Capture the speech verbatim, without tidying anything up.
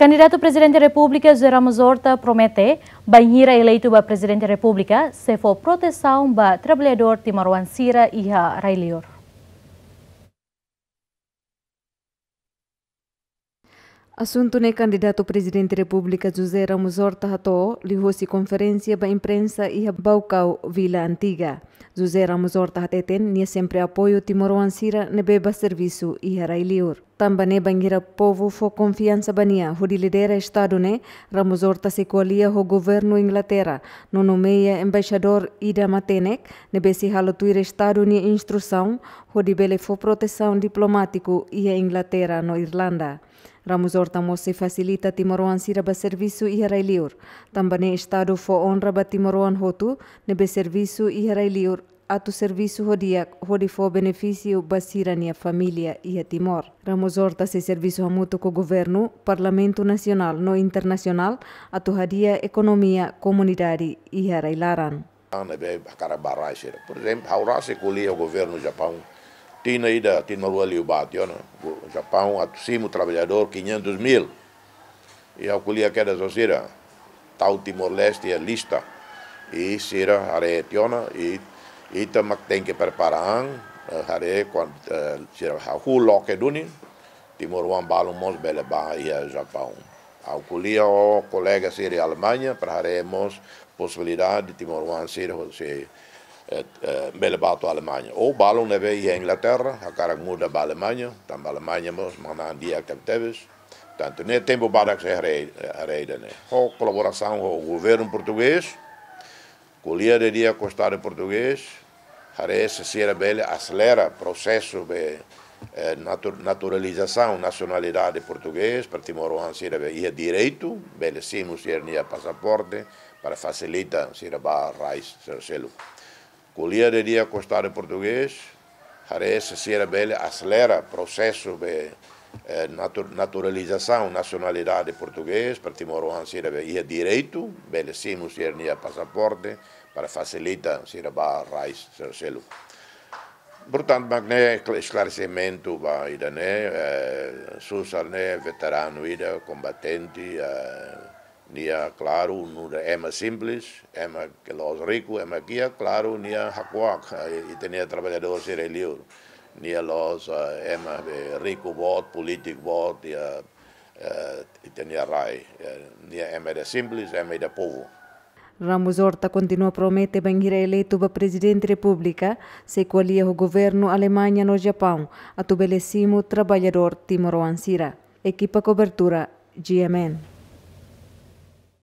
Kandidatu Prezidente Repúblika José Ramos Horta promete, bainhira eleitu ba Prezidente Repúblika, sei fó protesaun ba traballadór timoroan sira iha rai-liur. Asuntu ne'e kandidatu Prezidente Repúblika José Ramos Horta hato'o liuhosi konferénsia ba imprensa iha Baucau, Vila Antiga. José Ramos Horta hateten nia sempre apoiu timoroan sira ne'ebé bá servisu iha rai-liur. Tanba ne'e bainhira povu fó konfiansa ba nia hodi lidera estadu ne'e, Ramos Horta sei ko'alia ho governu Inglaterra, no nomeia embaixadór ida matenek, ne'ebé sei halo tuir estadu nia instrusaun, hodi bele fó protesaun diplomátiku iha Inglaterra no Irlanda. Ramos Horta mós sei fasilita timoroan sira bá servisu iha rai-liur. Tanba ne'e estadu fó onra ba timoroan hotu ne'ebé servisu iha rai-liur, atu servisu ho di'ak hodi fó benefísiu ba sira-nia família iha Timor. Ramos Horta sei servisu hamutuk ho governu, Parlamentu Nasionál no Internasionál atu hadi'a ekonomia komunidade iha rai-laran. Ne'ebé hakarak bá rai sira. Por ezemplu, ha'u rasik ko'alia ho governu Japaun. Tinan ida, tinan rua liubá tiha ona. Go-, Japaun atu simu traballadór quinhentos mil. I ha'u ko'alia kedas ho sira. Tau Timor-Leste iha lista. I sira haree tiha ona, i ita mak tenke prepara an, eh, haree kuandu, eh, sira hahú loke duni, timoroan balun mós bele bá iha Japaun. Ha'u ko'alia ho kolega sira iha Alemaña, para haree mós posibilidade timoroan sira hosi, eh, eh, bele bá to'o Alemaña. Ou balun ne'ebé iha Inglaterra, hakarak muda ba Alemaña, tanba Alemaña mós manán di'ak tebetebes. Tantu ne'e tempu badak sei haree, haree ida-ne'e. Ho kolaborasaun ho governu portugés, ko'alia didi'ak ho estadu portugés, haree se sira bele aselera prosesu be, eh, natu-, naturalizasaun nasionalidade portugés, para timoroan sira be iha direitu, bele simu sira-nia pasaporte, para fasilita sira bá rai sira seluk. Ko'alia didi'ak ho estadu portugés, haree se sira bele aselera prosesu be, eh, natu-, naturalizasaun nasionalidade portugés, para timoroan sira be iha direitu, bele simu sira-nia pasaporte, para fasilita sira bá rai sira seluk. Portantu, mak ne'e eskla-, esklaresimentu ba ida-ne'e, eh, susar ne'e veteranu ida, kombatente, eh, nia, klaru, nu'udar ema simples, ema ke la'ós riku, ema kiak, klaru, nia hakuak, eh, ita-nia traballadór sira liur. Nia la'ós, eh, ema be riku boot, polítiku boot, iha, eh, ita-nia rai. Eh, nia ema ida simples, ema ida povu. Ramos Horta kontinua promete bainhira eleitu ba Prezidente Repúblika, sei ko'alia ho governu Alemaña no Japaun, atu bele simu traballadór timoroan sira. Ekipa kobertura, G M N.